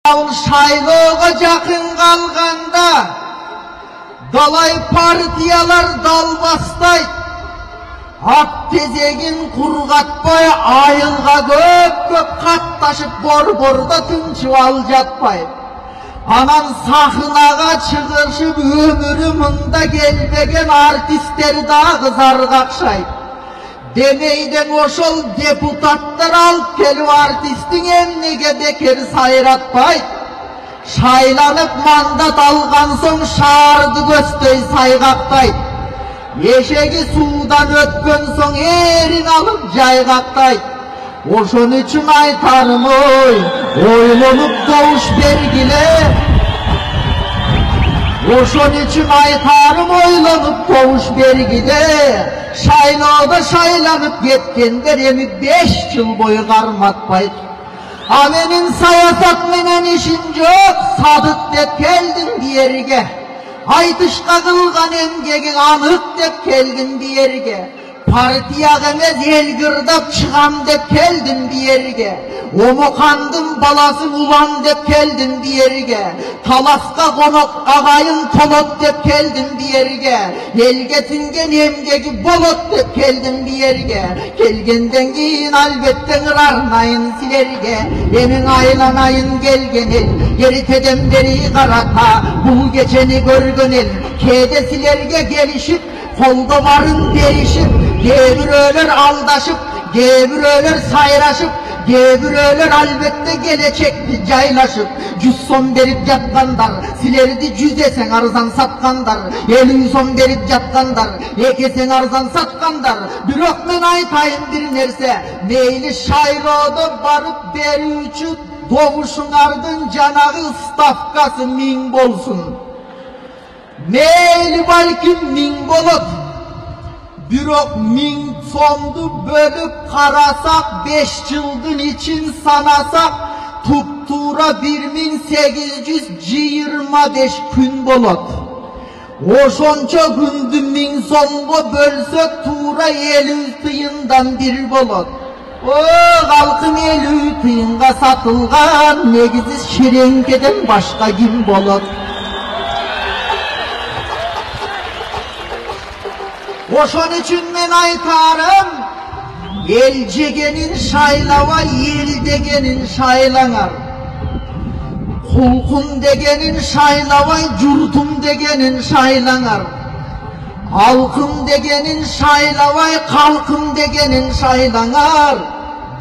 Шайлоого жакын калганда далай партиялар далбастайт, ак тезегин кургатпай, айылга көп катташып борбордо тынчып ал жатпайт. Анан сахнага чыгышып өмүрү мында келбеген артисттер дагы зарга акшайт. Демейден ошол депутаттар алып келип артисттин эмнеге бекер сайратпайт. Шайланып мандат алган соң шаарды көздөй сайгактайт. Эшеги суудан өткөн соң эрин алып жайгактайт. Ошон үчүн айтарым ойлонуп добуш бергиле. Ошон үчүн айтарым ойлонуп добуш бергиле. Шайлоодо шайланып кеткендер эми 5 жыл бою карматпайт. А менин саясат менен ишим жок, садык деп келдим биерге. Айтышка кылган эмгегиң анык деп келдим биерге. Партияга эмес эл кырдап чыгам деп келдим биерге. Омокандын баласын улан деп келдим биерге. Таласка конок агайын толот деп келдим биерге. Элге сиңген эмгеги болот деп келдим биерге. Келгенден кийин албетте ырарнайын силерге. Эмиң айланайын келген эл, эртеден бери карата бул кечени көргөн эл. Кээде силерге келишип, колдо барын беришип, кээ бирөөлөр алдашып, кээ бирөөлөр сайрашып, кээ бирөөлөр албетте келечекти жайлашып. 100 сом берип жаткандар, силерди 100 эсең арзан саткандар. 50 сом берип жаткандар, 2 эсең арзан саткандар. Бирок мен айтайын бир нерсе, мейли шайлоодо барып берүүчү добушуңардын жанагы ставкасы 1000 болсун. Мейли балким 1000 болот. Бирок 1000 сомду бөлүп карасак, 5 жылдын ичин санасак, туп-туура 1825 күн болот. Ошончо күндү 1000 сомго бөлсөк, туура 50 тыйындан 1 болот. Калкым 50 тыйынга сатылган, негизи ширеңкеден башка ким болот? Ошон үчүн мен айтарым, эл жегенин шайлабай, эл дегенин шайлаңар. Кулкун дегенин шайлабай, журтум дегенин шайлаңар. Алкым дегенин шайлабай, калкым дегенин шайлаңар.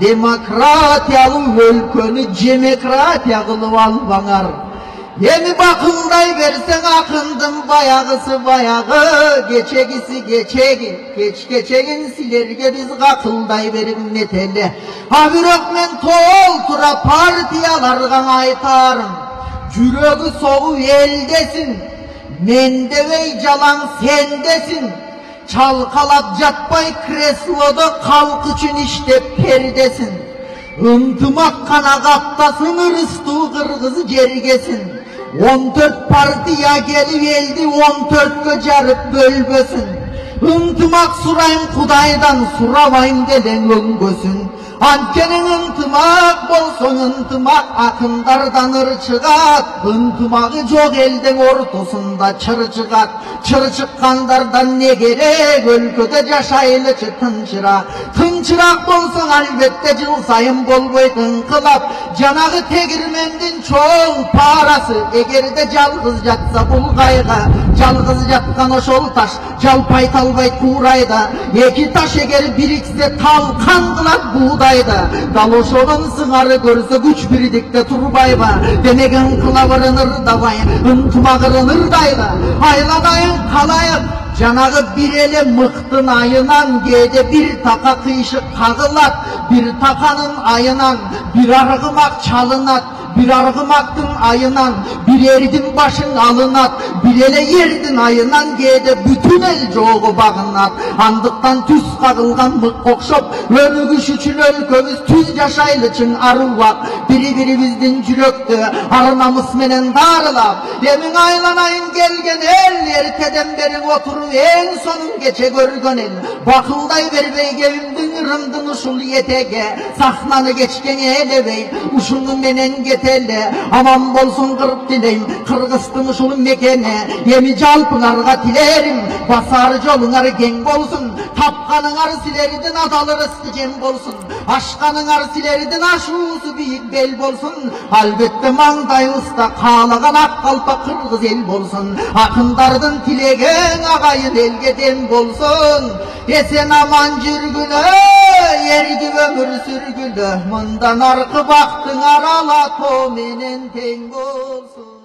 Демократиялуу өлкөнү жемократия кылып албаңар. Эми бакылдай берсең акындын баягысы баягы, кечегиси кечеги, кечегин силерге биз какылдай берип метеле. А бирок мен толтура партияларга айтарым, жүрөгү согуу элдесин, мен дебей жалаң сен десин. Чалкалап жатпай креслодо калк үчүн иштеп пердесин. Ынтымак кана каптасын, ырыстуу кыргыз жергесин. 14 партия келип элди 14кө жарып бөлбөсүн. Ынтымак сурайм Кудайдан, сурабайм делең өңгөсүн. Анткени ынтымак болсоң, ынтымак акындардан ыр чыгат. Ынтымагы жок элдин ортосунда чыр чыгат. Чыр чыккандардан не керек, өлкөдө жашайлычы тынчыраак. Тынчыраак болсоң албетте жыл сайын болбойт ыңкылап. Жанагы тегирмендин чоң парасы, эгерде жалгыз жатса бул кайга, жалгыз жаткан ошол таш жалпайт албайт куурайда. 2 таш эгер бириксе талкан кылат буудайда. Дал ошонун сыңары көрсө күч бирдикте турбайбы? Демек ыңкылабырын ырдабай, ынтымагырын ырдайбы? Айланайын калайык, жанагы бир эле мыктын айынан кээде бир така кыйшык кагылат. Бир таканын айынан бир аргымак чалынат. Bir argımaktın ayınan, bir erdin başın alınat. Bir ele yerdin ayınan gede bütün el çoğu bağınat. Andıktan tüz kağılgan mık kokşop, önügüş üçün ölkümüz tüz yaşaylıçın arıvak. Biri-birimizdin jüröktü, arnamız menen darılap. Emin aylanayın gelgen el, erteden berin oturup en sonun geçe görgön el. Bakılday berbey gevimdin rımdın uşul yetege, sahnanı geçken elebey, uşunu menen чет элде аман болсун кырып тилейм кыргыздын ушул мекени эми жалпыңарга тилерим басар жолуңар кең болсун тапканыңар силердин адал ырысты жем болсун ашканыңар силердин ашуусу бийик бел болсун албетте маңдайыбызда каалаган ак калпак кыргыз эл болсун акындардын тилеген агайын элге дем болсун эсен аман жүргүлө эргип өмүр сүргүлө мындан аркы бактыңар ала тоо менен тең болсун.